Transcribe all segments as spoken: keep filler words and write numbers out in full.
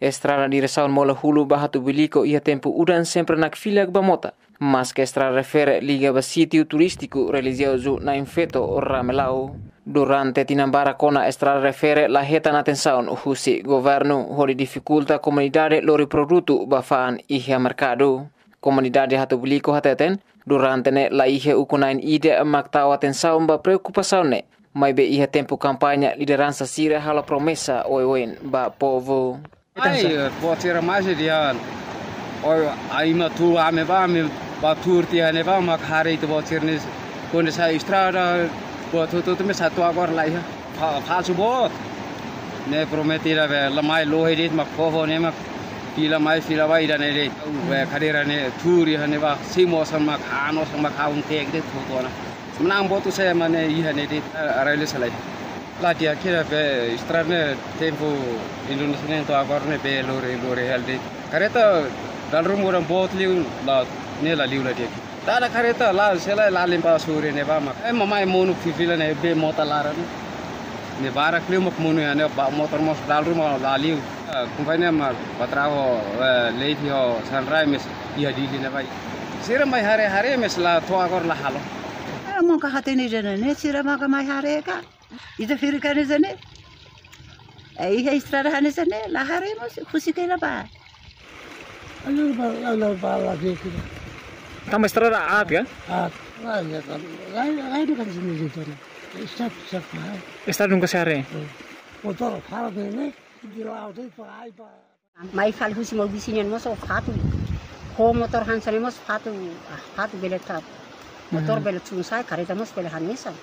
Estrada diresaun Molahulu ba Hatubuilico iha tempu udan sempre nakfilak ba mota. Maske estrada refere liga ba sítiu turístiku relijiozu Nain Feto Ramelau. Durante tinan barak ona estrada refere la hetan atensaun husi governu hodi difikulta komunidade lori produtu ba fa'an iha merkadu. Komunidade Hatubuilico hateten, durante ne'e la iha ukun-na'in ida mak tau atensaun ba preokupasaun ne'e. Maibé iha tempu kampaña lideransa sira halo promesa oioin ba povu. Ai, buat sira mais dian. Oi, ai, ema tuur ami ba, ami ba tuur tiha ne'ebá mak haree ita buat sira ne'e. Kuandu sai estrada, buat hotu-hotu mesak to'o agora la iha. Fa-, falsu buat. Ne'e promete ida be la mai lohe de'it mak povu ne'e mak fila mai fila ba ida-ne'e de'it. Be kadeira ne'e tuur iha ne'ebá, simu osan mak han, osan mak han tek de'it hotu ona. Menang botu saya mane iha ne'e de'it, eh, arale salai. La di'ak ida be estrada ne'e tempu Indonézia ne'e to'o agora ne'e be lori, lori hela de'it. Kareta dala ruma udan boot liu la, ne'e la liu la di'ak. Dala kareta la sela la limpa suri ne'ebá mak. Eh, mamai monu fifila ne'e be mota laran ne'e. Ne'e barak liu mak monu iha ne'e ba motor mós dala ruma la liu. Eh, kompañia mak ba traballu, eh, Levi ho Sunrise iha Dili ne'ebá. Sira mai haree-haree mais la to'o agora la halo. Eh, maka hatene jene ne'e sira maka mai haree ka. Ita firi ka ne'e jene. Eh, iha estrada hanesan ne'e, la haree mós, husik hela ba. Ayo, ba, la, la, ba, la, dia kira. Tanba estrada aat ka? Aat, la, ya, kan. La, la, itu kan sini situ, nah. Stop, stop, nah. Estrada nunka se haree? Eh. Motor, fala, ne'e, ne'e, di laut, eh, pa, ai, pa. Mai fali husi mau bisi nian mós, oh, fatuk. Ho motor hanesan ne'e mós, fatuk, ah, fatuk bele tap. Motor bele tun sai, kareta mós bele hanesan.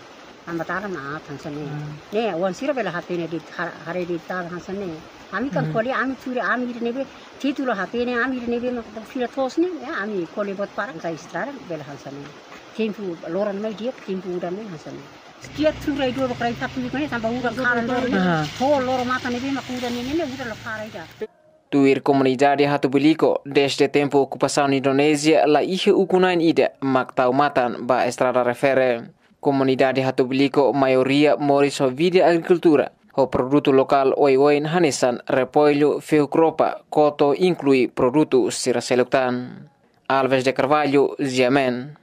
Tanba tara na aat hanesan ne'e. Ne'e, oan sira bele hatene de'it, har-, haree de'it tara hanesan ne'e. Ami kan ko'alia, ami tuur, ami ida ne'ebé, títulu hatene, ami ida ne'ebé mak fila to'os ne'e, ya, ami ko'alia buat para, sai estrada bele hanesan ne'e. Tempu loron mai di'ak, tempu udan mai hanesan ne'e. Setiap tuur ai dua bakrai satu ne'e, tanba udan kalan loron ne'e. Ho loron matan ne'ebé mak udan ne'e, ne'e, udan la para ida. Tuir komunidade Hatubuilico, dezde tempu okupasaun Indonézia, la iha ukun-na'in ida mak tau matan ba estrada refere. Komunidade Hatubuilico maioria moris ho vida agrikultura, ho produtu lokál oioin hanesan repollu, fehu kropa, koto, inklui produtu sira seluk tan. Alves de Carvalho, G M N.